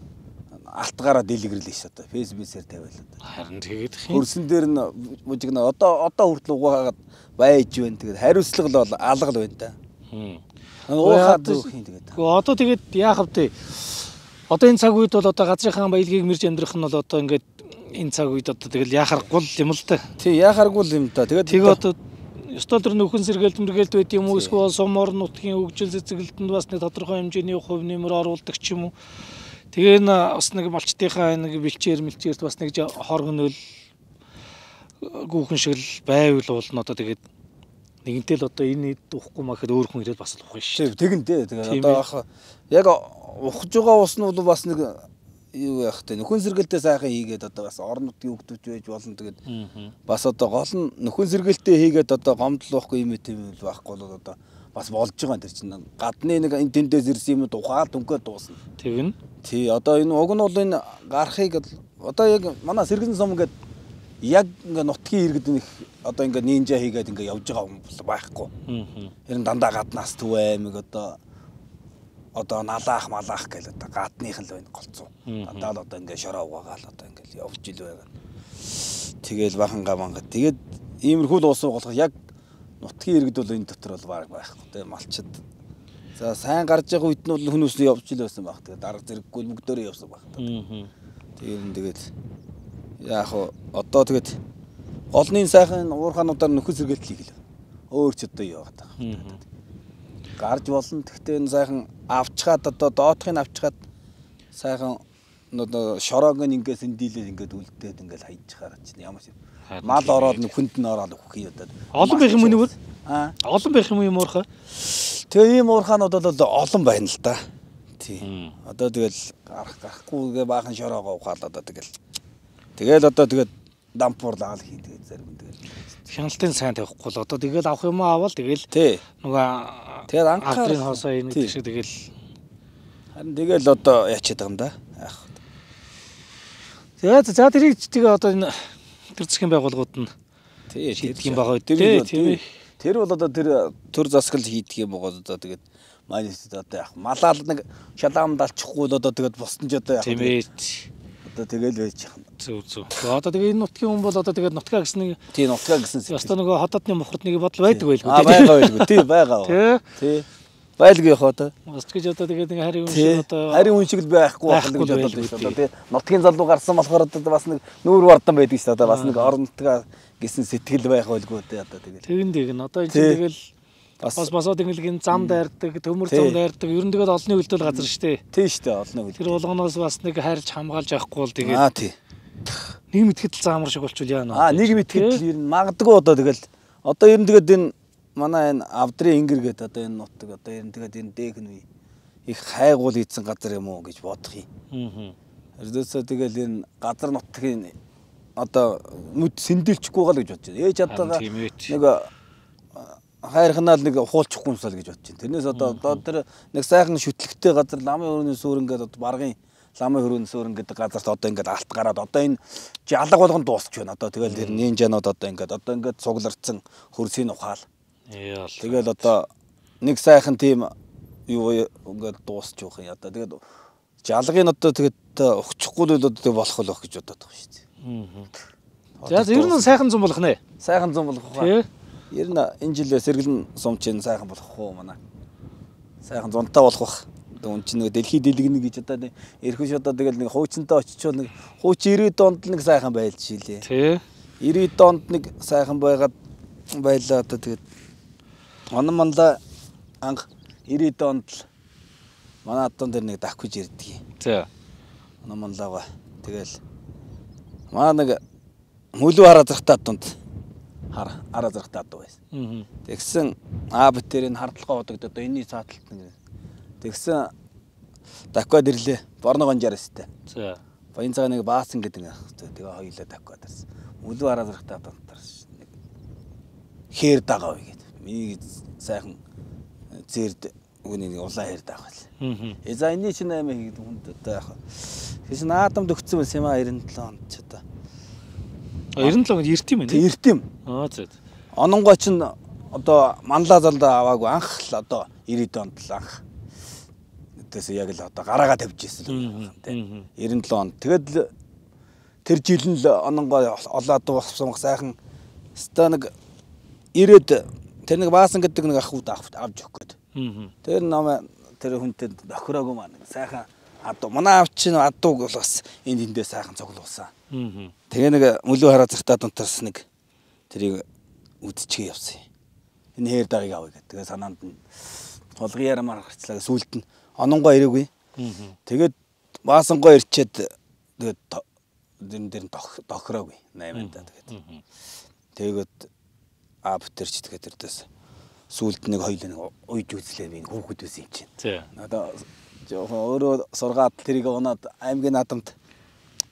алтгаараа дэлгэрлээ ш одоо фэйсбүүкээр тавиалаа. Харин тэгээд хөрсөн дээр нь мужигна одоо хүртэл угаагаад байж байна. Тэгээд хариуцлага л алга л байна та. Уухаад дүүхийн тэгээд. Одоо тэгээд яах вэ? Одоо энэ цаг үед бол одоо газрынхаа баялагийг мэрж амьдрах нь бол одоо ингээд энэ цаг үед одоо тэгэл яхаргүй юм л та. Тий яхаргүй юм та. Тэгээд одоо ёстой төр нөхөн сэргээлт мэргээлт байд юм уу эсвэл сумор нутгийн хөгжил цэцгэлтэнд бас нэг тодорхой хэмжээний хувь нэмэр оруулдаг ч юм уу. Тэгээ бас нэг малчтынхаа нэг мэлчээрт бас нэг хоргонөл гүүхэн шиг л байвал болно одоо тэгээд нэгэнтэй л одоо энэ уухгүй махад өөр хүн ирээд бас л ухах шүү. Тэгэн дээ. Тэгээд одоо яг ухаж байгаа ус нь бол бас нэг юу яах вэ? Нөхөн сэргэлтээ сайхан хийгээд одоо бас орон нутгийн хөвгтөж байж болно. Тэгээд бас одоо гол нь нөхөн сэргэлтээ хийгээд одоо гомдол واخгүй юм тийм байхгүй бол одоо бас болж байгаа тэр чинь гадны нэг энэ тэндээс ирсэн юм ухаад өнгөө дуусна. Тэгнэ. Тий одоо энэ уг нь бол энэ гарахыг одоо яг манай сэргэлэн сум ингээд яг ингээ нутгийн иргэд нэг одоо ингээ нинжа хийгээд ингээ явж байгаа хүн байхгүй. Харин дандаа гаднаас Төв аймаг одоо налаах малаах гэл одоо гадных л байна голцоо. Дандаа л одоо ингээ шороо угаагаал одоо ингээ явж ил байгаа. Тэгэл баханга манга. Тэгээд иймэрхүү л уус уугалах яг нутгийн иргэд бол энэ дотор бол баг байхгүй. Тэгээ малчид. За сайн гарч байгаа үед нь бол хүмүүс явж ил байсан баг. Тэгээд дарга зэрэггүй мөгдөөрөө явсан баг. Тэгээд яг одоо тэгээд голны сайхан уурхаануудаар нөхөс сэргэлт хийгээл. Өөр ч одоо яваад байгаа. Гарч болно. Гэхдээ энэ сайхан авчгаад одоо доотхыг авчгаад сайхан одоо шороог ингээс эндийлээ ингээд үлдээд ингээд хайчихаар чинь ямар ч мал ороод нөхөнд нь ороод өгөх юм одоо. Олон байх юм уу? Олон байх юм уурхаа? Тэгээ ийм уурхаанууд бол олон байна л да. Тий. Одоо тэгэл гарахгүйгээ баахан шороогоо ухаал одоо тэгэл одоо тэгээд дампуурлаа л хий тэгээд зарим тэгэл хяналтын сайн тавихгүй л одоо тэгэл авах юм аваад тэгэл нөгөө тэгээд анхаарал хоосоо энэ шиг тэгэл харин тэгэл одоо яачаад байгаа юм да. За тэрийг тэгээ одоо энэ төр засгийн байгууллагууд нь шийдэх юм байгаа үү? Тэр бол одоо тэр төр засгал хийдэг юм байгаа одоо тэгээд манайд одоо яг малаал нэг шалаамд алчихгүй л одоо тэгээд босдон ч одоо яг одоо тэгэл байж яах. Зүг. Одоо тэгээ энэ нутгийн хүн бол одоо тэгээд нутгаа гэсэн нэг нутгаа гэсэн яста нөгөө хотодны мохорд нэг бодол байдаг байлгүй байгаа байлгүй тий байгаа. Тий. Байлгүй яах одоо. Бас гэж одоо тэгээд нэг харин хүн шиг одоо харин хүн шиг л байхгүй байх гэж боддог шүү дээ. Тэгээ нутгийн залуу гарсан болохоор одоо бас нэг нүүр вардан байдаг шүү дээ. Одоо бас нэг орон нутгаа гэсэн сэтгэл байх байлгүй дээ одоо тэгээд. Тэгэн одоо энэ тэгэл бас ингэлгийн зам дайрдаг, төмөр зам дайрдаг. Ер нь тэгээд олонний хөлтөл газар шүү дээ. Тий шүү дээ, олонний хөлтөл. Тэр болгоноос бас нэг хайрч хамгаалж авахгүй бол тэгээд тий. Нийгэм итгэл заамар шиг болчихвол яана. Нийгэм итгэл ер нь магадгүй одоо тэгэл одоо ер нь тэгээд энэ манай энэ авдрын ингэр гэдэг одоо энэ нутаг одоо ер нь тэгээд энэ дээх нь их хайгуул ийдсэн газар юм уу гэж бодох юм. Ердөөсөө тэгэл энэ газар нутгийн одоо нүд сэндэлчихгүй гал гэж бодож байна. Ээж чадтайгаа нэг хайрхнаал нэг ухуулчихгүй юмсаа л гэж бодож байна. Тэрнээс одоо тэр нэг сайхан шүтлэгтэй газар ламын өрөөний сүр ингээд одоо баргын ламын өрөөний сүр ингээд газарт одоо ингээд алт гараад одоо энэ жалга болгон дуусч байна. Одоо тэгэл тэр нинжанууд одоо ингээд цугларцсан хөрсийн ухаал. Тэгэл одоо нэг сайхан тийм юу ингээд дуусч явах юм. Одоо тэгээд жалгын одоо тэгээд өгчихгүй л одоо болох л байх гэж бодоод байгаа шүү дээ. За ер нь сайхан зам болох нэ. Сайхан зам болох уу? Ер нь энэ жил сэргэлэн сумчин сайхан болох уу манай. Сайхан зунтаа болох бах. Үн чинь нэг дэлхий дэлгэнэ гэж одоо эрхэш одоо тэгэл нэг хуучинтай очичвол нэг хууч 90 донд нэг сайхан байлж шилээ. Тий. 90 донд нэг сайхан байгаад байлаа одоо тэгээд онон манла анх 90 донд л манай атон дээр нэг давхиж ирдэг. Тий. Онон манлаага тэгэл маа нэг мөлөө хараа зархтаа донд араа зархтаа дуу байсан. Тэгсэн битэрийн хардлагаа бодогд одоо энэний цааталт нэг тэгсэн даквад ирлээ. Борно гонжарэстэй. За. Баян цагаан нэг баасан гэдэг тэгээ хоёулаа даквад ирсэн. Мөлөө араа зархтаа донтарс нэг хээр дагаа вэ гэдэг. Миний сайхан зэрд үнийг улаан хээр дагаа л. За энэний чинь 8 хийгээд хүнд одоо яг. Тэгээс наадамд өгцөн байсан юм 97 онд ч одоо. 97 онд эрт юм ээ. Эрт юм. За. Ононгой ч одоо манлаа залдаа аваагүй анх л одоо 90 онд л анх. Тэс яг л одоо гараагаа тавьж ирсэн л тийм 97 онд. Тэгэд тэр жил нь л ононгой олоод болсон сайхан ста нэг ирээд тэр нэг баасан гэдэг нэг ах үүд авч өгөх гээд. Тэр нам тэр хүнтэй охироогүй маань сайхан адуу манай авч чинь адууг бол бас энд эндээ сайхан цуглуулсан. Тэгээ нэг мөлөө хараа захтаа дунтарс нэг тэрийг үдчихээ явсан. Энэ хээр дагыг авъя гэдэг. Тэгээ санаанд нь толгын ярамаар гарчлаа. Сүулт нь ононгоо ирээгүй. Тэгээд Баасангоо ирчээд тэгээд дээр нь тохироогүй 8-нд тэгээд. Тэгээд бүтэрч тэгээд тэрдээс сүүлд нэг хоёул уйж үзлээ би хүүхэд байсан юм чинь. Тий. Одоо жоохон өөрөө сургаад тэрийг унаад аймгийн наадамд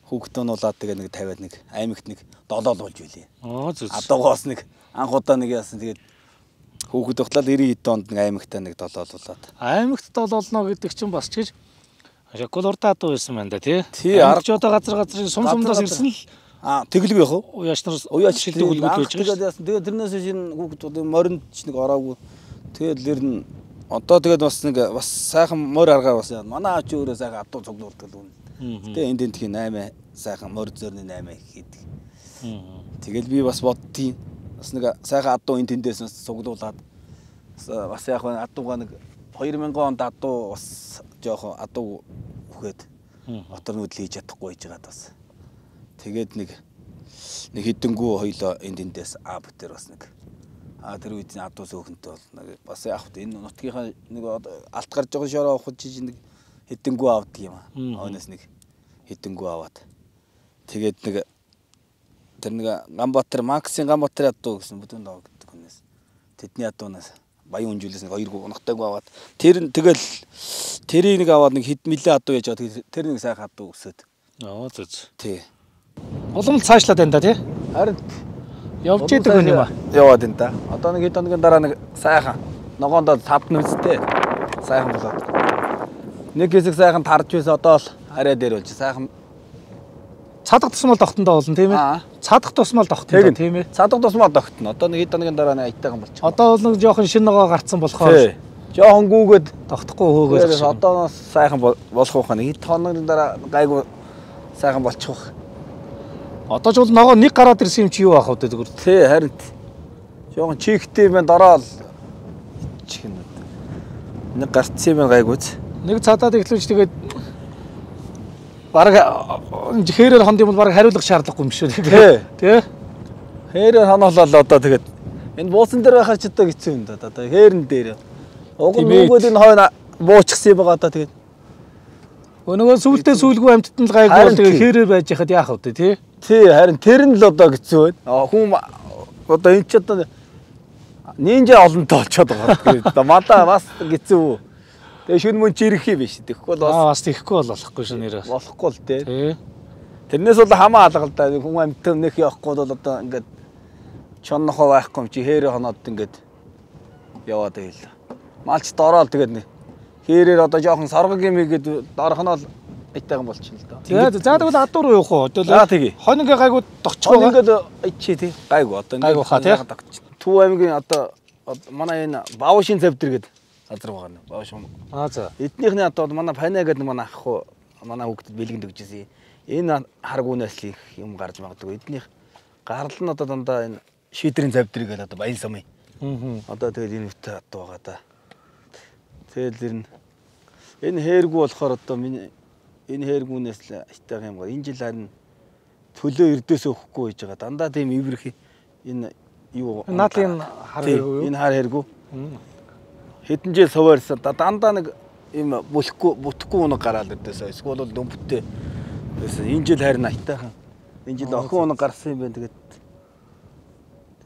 хүүхэд нуулаад тэгээд нэг тавиад нэг аймагт нэг долоол болж билээ. Зүг. Адуугоос нэг анх удаа нэг яасан тэгээд хүүхэд тогтлал 90 онд нэг аймагтаа нэг долоолуулаад. Аймагт долоолно гэдэг чинь бас ч гэж шоколадтай адуу байсан байна да тий. Аргач одоо газрын сумсумдаас ирсэн л тэглэг яах вэ? Уяач нар уяач шилдэг үлгүүд байж байгаа. Тэгээд яасан тэгээд тэрнээс шинэ хүүхдүүд моринд ч нэг ороогүй. Тэгээд лэр нь одоо тэгээд бас нэг бас сайхан морь аргаар бас манай ач өөрөө сайхан адуу цуглуулдаг л үнэ. Тэгээд энд тхийн 8 сайхан морь зөрний 8 хийдэг. Тэгэл би бас боддtiin. Бас нэг сайхан адуу энэ тэндээс бас цуглуулад бас яг адууга нэг 2000 онд адуу бас жоохон адуу үхээд отор нүүдэл хийж чадахгүй байж байгаад бас. Тэгээд нэг хэдэнгүү хоёлоо энэ тэндээс бүтээр бас нэг тэр үед адуу сөөхөнтэй бол нэг бас яг энэ нутгийнхаа нэг алт гарч байгаа шороо авах жиж нэг хэдэнгүү авдаг юм аа. Оноос нэг хэдэнгүү аваад. Тэгээд нэг тэр нэг Ганбаатар Максийн Ганбаатарын адуу гэсэн бүдүүн доо гэдэг хүнээс тэдний адуунаас баян үнжүүлээс нэг 2 унахтайг аваад тэр нь тэгэл тэрийг нэг аваад нэг хэд мэлээ адуу яаж байгаа тэр нэг сайхан адуу өсөд. Зүг. Тий. Улам цаашлаад байна да тий. Харин явж идэг хүн юм аа. Яваад энэ да. Одоо нэг хэд хоногийн дараа нэг сайхан ногоондоо тав нүцтэй сайхан болоод. Нэг хэсэг сайхан тарж байсан одоо л арай дээр болж сайхан цадах тусмал тогтондоо болно тийм ээ. Цадах тусмал тогтондоо тийм ээ. Цадах тусмал тогтно. Одоо нэг хэд хоногийн дараа нэг аятайхан болчих. Одоо бол нэг жоохон шинэ ногоо гарцсан болохоор жоохон гүүгээд тогтохгүй хөөгөөд одоо сайхан болох уу хаа нэг хэд хоногийн дараа гайгүй сайхан болчих. Одоо ч бол ногоо нэг гараад ирсэн юм чи юу аах вэ зүгээр. Тий харин жоохон чигтэй байна дараа л чихнэ. Нэг гарцсан юм гайгүйц. Нэг цадаад иглүүлж тэгээд бараг хэрээр хонд юм бол бараг хариулах шаардлагагүй юм шүү дээ. Тий. Хэрээр хоноолол одоо тэгээд энэ буусан дээр байхаар ч одоо хэцүү юм да. Одоо хэрэн дээр. Уг нь нүгэл энэ хойно буучсан юм байгаа одоо тэгээд. Өнөөгөө сүултээ сүулгүй амьтад нь л гайгүй бол тэгээд хэрээр байж яхад яах вэ тий. Тий харин тэр нь л одоо хэцүү байна. Хүн одоо энэ ч одоо нинжа олонтой болчиход байгаа. Тэгээд одоо мадаа бас хэцүү. Тэгээ шүн мөн чирэх юм биш. Тэгэхгүй бол бас тэгэхгүй болохгүй шүү нэрээ. Болохгүй л тий. Тэрнээс бол хамаа алга л да. Хүн амьтан нэх явахгүй бол одоо ингээд чоннохоо байхгүй юм чи хэрэг хоноод ингээд яваад байл. Малч дороол тэгээд нэг хэрээр одоо жоохон соргог юм игээд дорхоноо айтайхан болчихно л да. Тэгээд за тэгвэл адуу руу явах уу? Тэгээ. Хонингээ гайгүй тогтчих байгаа. Ингээд чи тий гайгүй одоо ингээд тогтчих. Төв аймгийн одоо манай энэ Баавшин завдэр гэдэг газар байгаа нь Баавшин. За. Эднийхний одоо манай Пана гэдэг манай ах хуу манай хүүхдэд бэлгэнд өгчээсэн. Энэ харгуунаас л их юм гарч магадгүй. Эднийх гарал нь одоо дандаа энэ шийдрийн завдрыг гэдэг одоо баян сумын. Одоо тэгээд энэ үтэ адуу байгаа да. Тэгэл энэ хэргүү болохоор одоо миний энэ хэргүүнээс л айтайхан юм гоо. Энэ жил харин төлөө эрдөөс өгөхгүй байж байгаа. Дандаа тийм ивэрх энэ юу наадын хар хэргүү. Энэ хар хэргүү. Хэдэн жил суваарсан. Дандаа нэг юм бүтэхгүй унаг гараад ирдээсээ. Эсвэл бол дөмбөттэй. Энэ жил харин айтайхан. Энэ жил охин унаг гарсан юм байна. Тэгээд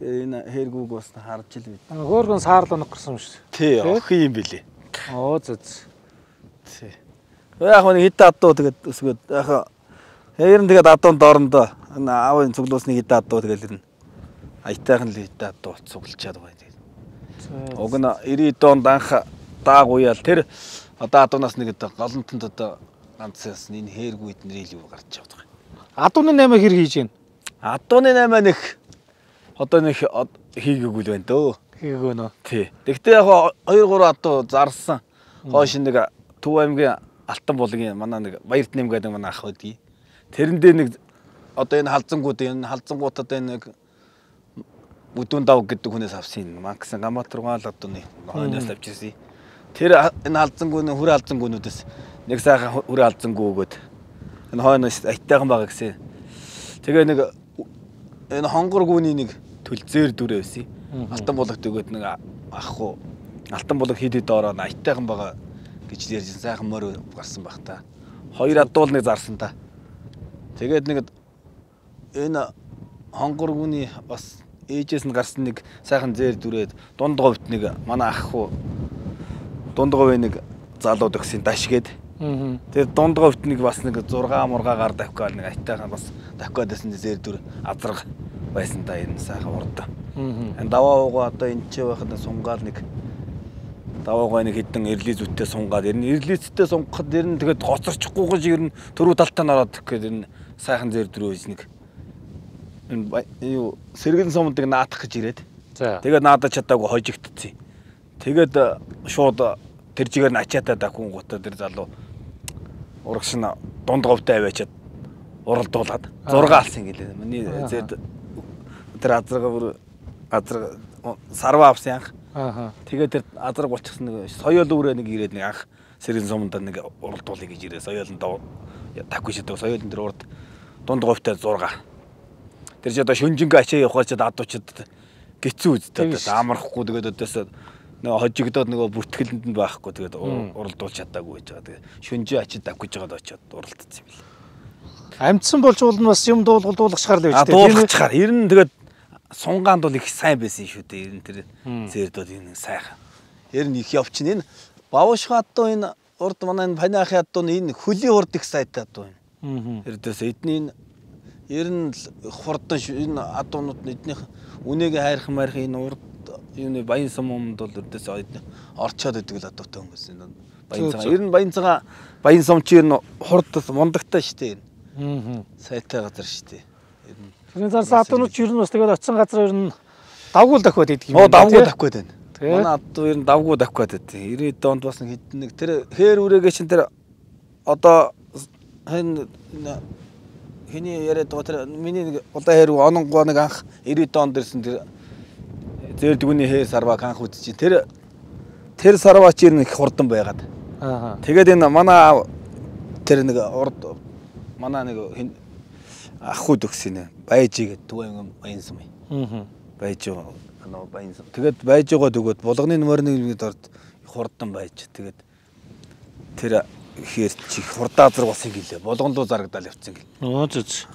энэ хэргүүг бас харж ил бид. Хөөргөн саарлаа унаг гарсан юм шүү. Тий, охин юм билий. Зүз. Тий. Яг нэг хэд адуу тэгээд өсгөөд яг хэрэн тэгээд адуунд доорондоо аавын цуглуулсны хэд адуу тэгээд ирнэ. Аятайхан л хэд адуу цуглчаад байгаа тэгээд. Уг нь 90 онд анх дааг уяал тэр одоо адуунаас нэг одоо голонтонд одоо ганцаас энэ хэргүүд нэрэл юу гарч яваад байгаа. Адууны 8 хэр хийж гин? Адууны 8 нэг одоо нэг хийгээгүй л байна дөө. Хийгээгүй нөө. Тий. Тэгтээ яг 2 3 адуу зарсан. Хойш нэг Төв аймгийн Алтан булгийн манай нэг Баярт нэм гэдэг манай ах байдгийг. Тэрэндээ нэг одоо энэ халзангуудад энэ нэг бүдүүн дав гэдэг хүнээс авсан Макс Ганбаатар л одоо нэг хойноос авч ирсэн. Тэр энэ халзангууны хүрээ халзангуунуудаас нэг сайхан хүрээ халзангуу өгөөд энэ хойноос айтайхан байгаа гэсэн. Тэгээ нэг энэ хонгор гүний нэг төлзээр дүрээ байсан. Алтан булгад өгөөд нэг ах уу Алтан булаг хийдэд ороо айтайхан байгаа гэж ярьжсэн сайхан морь гарсан баг та. 2 адуул нэг зарсан та. Тэгээд нэг энэ хонгоргууны бас ээжээс нь гарсан нэг сайхан зээр дүрээд дунд говьт нэг манай ах хуу дунд говь нэг залуу төгсөн дашгээд. Тэгээд дунд говьт нэг бас нэг 6 мургаагаар давхиад нэг айтайхан бас давхиад байсан зээр дүр азраг байсан та энэ сайхан урд. Энэ даваагаа одоо энэ ч байхад сунгаал нэг даваагаа нэг хэдэн эрли зүттэй сунгаад ер нь эрлицтэй сунгахад ер нь тэгээд гоцорчихгүй гэж ер нь төрөө талтаа нараад гэхэд ер нь сайхан зэр дөрөөс нэг юу сэргэн сумдыг наадах гэж ирээд. Тэгээд наадаж чадаагүй хожигдчихсэн. Тэгээд шууд тэр жигээр нь ачаатаа дахин гутаа тэр залуу урагш нь дунд говьтай аваачаад уралдуулаад 6 алсан гэлээ. Миний зэр тэр азраг сарва авсан анх. Тэгээд тэр азраг болчихсон нэг соёол өөрөө нэг ирээд нэг анх сэргэн сумд нэг уралдуулъя гэж ирээ. Соёолд таггүй шидэг соёолын тэр урд дунд говьтай 6. Тэр ч одоо шүнжингээ ачаа явахаар ч адуучид гитцүү үздэй. Амархгүй тэгээд өдөөс нэг хожигдоод нөгөө бүртгэлэнд нь байхгүй тэгээд уралдуулж чадаагүй гэж байгаа. Тэгээд шүнжээ ачид авах гэж байгаад очиод уралдсан юм билээ. Амьдсан болж уул нь бас юм дуулгахчаар л байж тээ. Дуулгахчаар. Ер нь тэгээд сунгаанд бол их сайн байсан шүү дээ. Ер нь тэр зэрдүүд энэ сайхан. Ер нь их явчин энэ бавшха адуу энэ урд манай энэ паниахын адуу энэ хөлийн урд их сайтай адуу энэ. Эрдээс эдний ер нь хурдан энэ адуунууд эднийх үнэгээ хайрхан марих энэ урд юуны баян сумд бол эрдээс орчоод идэг л адуутай хүмүүс энэ баян цагаан. Ер нь баян сум чи ер нь хурд мундагтай шүү дээ. Сайтай газар шүү дээ. Тэрний зарсан адуунууд ер нь бас тэгээд очисон газар ер нь давгүй давхиад идэг юм. Давгүй давхиад байна. Манай адуу ер нь давгүй давхиад байдаг. 90-д онд бас нэг тэр хээр үрээгээ чинь тэр одоо хэний яриад байгаа тэр миний нэг удаа хэрэг ононгоо нэг анх 90-д онд ирсэн тэр зээрдгүний хээр сарваг анх үзчих. Тэр сарваа чи ер нь их хурдан байгаад. Тэгээд энэ манай тэр нэг урд манай нэг ахгүй төгсөн байжгээд Түвэн баян сум. Байж байгаа баян сум. Тэгээд байж байгаа төгөөд булганы нөмөрний орд хурдан байж. Тэгээд тэр ихээр чи хурдаа азар болсон гэлээ. Булган руу зарагдал явцсан гэл.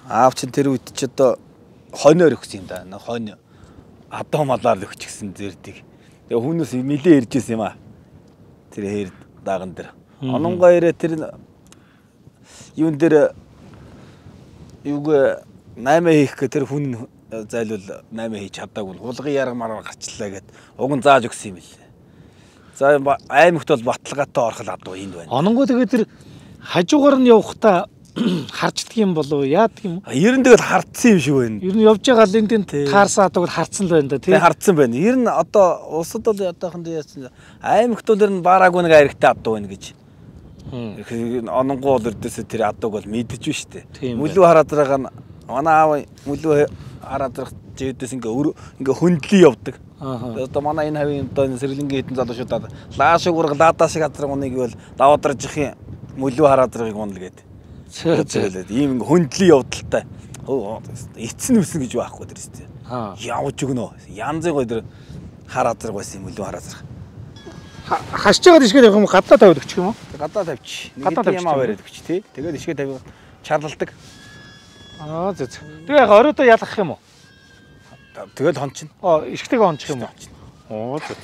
Аав чин тэр үед ч одоо хоноор өгсөн юм да. Хонь адуу малаар өгчихсэн зэрдийг. Тэгээ хүнээс нилээ ирж ирсэн юм аа. Тэр хээр дааган дээр. Ононгоо ирээ тэр юун дээр юуг 8 хийх гэ тэр хүн зайлвал 8 хийж чадаагүй. Хулгын ярга мараар гарчлаа гэд уг нь зааж өгсөн юм билээ. За аймагт бол баталгаатай орхол адуу энд байна. Ононгоо тэгээд тэр хажуугаар нь явахдаа харждаг юм болов яадаг юм? Ер нь тэгэл хардсан юм шиг байна. Ер нь явж байгаа л энд таарсан адууг хардсан л байна да тий. Хардсан байна. Ер нь одоо улсад бол одоохонд яасан аймагт бол ер нь баараагүй нэг хайртай адуу байна гэж. Ононгоо бол ердөөсөө тэр адууг бол мэдэж биш үү? Мүлүү хараад байгаа нь манай аав мүлүү хараад байгаа жидээс ингээ хөндлөө явдаг. Одоо манай энэ хавийн одоо сэргэлэнгийн хэдэн залуучуудад лаашиг ураг лаадаа шиг газар уныг бол даваадаржихын мүлүү хараад байгаагийг унал гэдэг. Зөөлөд ийм ингээ хөндлөө явдалтай. Эцэн үсэн гэж байхгүй тэр үстэй. Явж өгнө. Янзын гой тэр хараад байсан юм мүлүү хараад байгаа. Хашж байгаа ишгээд явах юм гадаа тавиад өгчих юм уу? Гадаа тавьчих. Нэг юм аваад өгч тий. Тэгээд ишгээд тавиад чарладаг. Зөө. Тэгээ яг оройдоо ялгах юм уу? Тэгэл хончин. Ишгтэйг хончих юм уу? Зөө.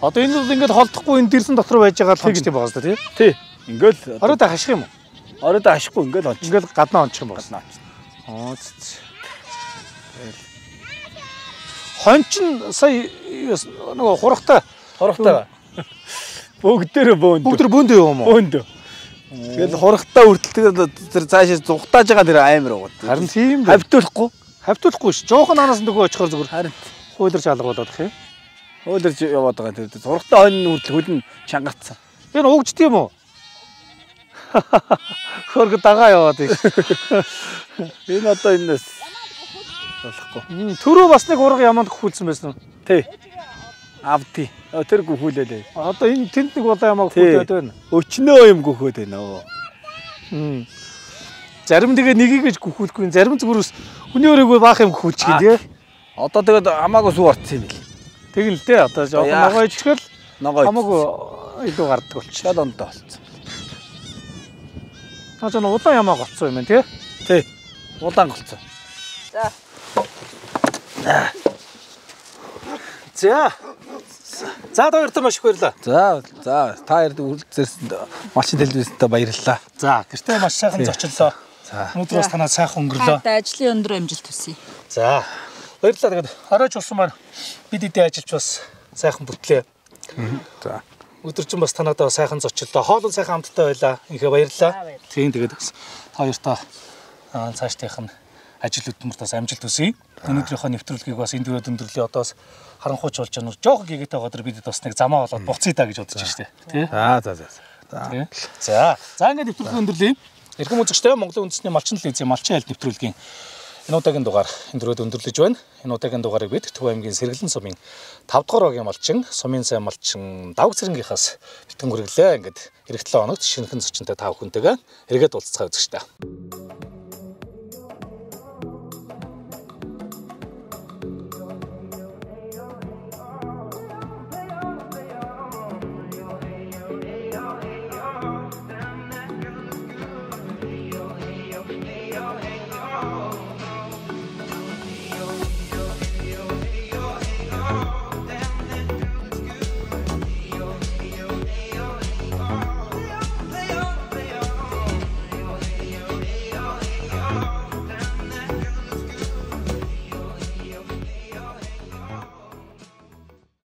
Одоо энэ бол ингээд холдохгүй энэ дэрсэн дотор байж байгаа л хончтой байгаа зү тий. Тий. Ингээл оройдоо хаших юм уу? Оройдоо хашихгүй ингээл хончин. Ингээл гаднаа хончих юм байна. Гаднаа хончин. Зөө. Хончин сая нөгөө хурахтай бүгдээрээ бөөнд. Бүгдэр бөөнд юм уу? Бөөнд. Тэгэл хурахтай үрдэлтэйгээр тэр цаашаа зугтааж байгаа тэр аимар байгаа. Харин тийм хавтуулахгүй. Хавтуулахгүй ш. Жоохон анаас нөгөө очихоор зүгээр. Харин хуйларч алгуулдаг юм. Хуйларч яваад байгаа тэр хурахтай хонь үрдэл хөлн чангацсан. Тэр угжд юм уу? Хөргө дагаа яваад иш. Энэ одоо энэс болохгүй. Төрөө бас нэг урга яманд гүхүүлсэн байсан уу? Тий. Авди. Тэр гүхүүлээлээ. Одоо энэ тэнд нэг удаа ямаа гүхүүлээд байна. Өчнөө юм гүхөөд байна. Зарим тэгээ нэгийг гэж гүхүүлэхгүй, зарим зүгээр хүний өрөөгөө баах юм гүхүүлчих тий. Одоо тэгээд хамаагүй сүү орцсон юм бил. Тэг нь л дээ. Одоо жоохон ногоо ичгэл ногоо хамаагүй илүү гардаг болчих. Шал ондоо болцсон. Та ч улаан ямаа голцсон юм байна тий? Тий. Улаан голцсон. За. За. За хоёртоо маш их баярлалаа. За та ярд үлдсэрсэн малчин телевизтэй баярлалаа. За гэртээ маш сайхан зочлоо. За. Өнөөдөр бас танаа сайхан өнгөрлөө. Та ажлын өндөр амжилт хүсье. За. Баярлалаа. Тэгээд оройч болсон маань бид эдээ ажиллаж бас сайхан бүтлээ. За. Өдөржин бас танадаа сайхан зочлоо. Хоолон сайхан хамттай байлаа. Инхээ баярлалаа. Тийм тэгээд бас та хоёртоо цаашдынх нь ажил хөдөлмөрт бас амжилт хүсье. Өнөөдрийнхөө нэвтрүүлгийг бас энд өрөөд өндөрлөе. Одоос харанхууч болж байгаа. Жохон гэгээтэй байгаа бид бас нэг замаа болоод буцъя та гэж бодож штэ. Тий? За. За ингээд нэвтрүүлгийг өндөрлөе. Эрхэм үзэгчдээ Монголын үндэсний малчин телевизийн малчин айлт нэвтрүүлгийн энэ удаагийн дугаар энд өрөөд өндөрлөж байна. Энэ удаагийн дугаарыг бид Төв аймгийн Сэргэлэн сумын 5 дугаар огийн малчин, сумын сайн малчин Давг Цэрэнгийнхаас бэлтгэн хүргэлээ. Ингээд эх 7 хоногт шинэхэн зочинтой та бүхэнтэйгээ эргээд уулзцаа үзэгчдээ.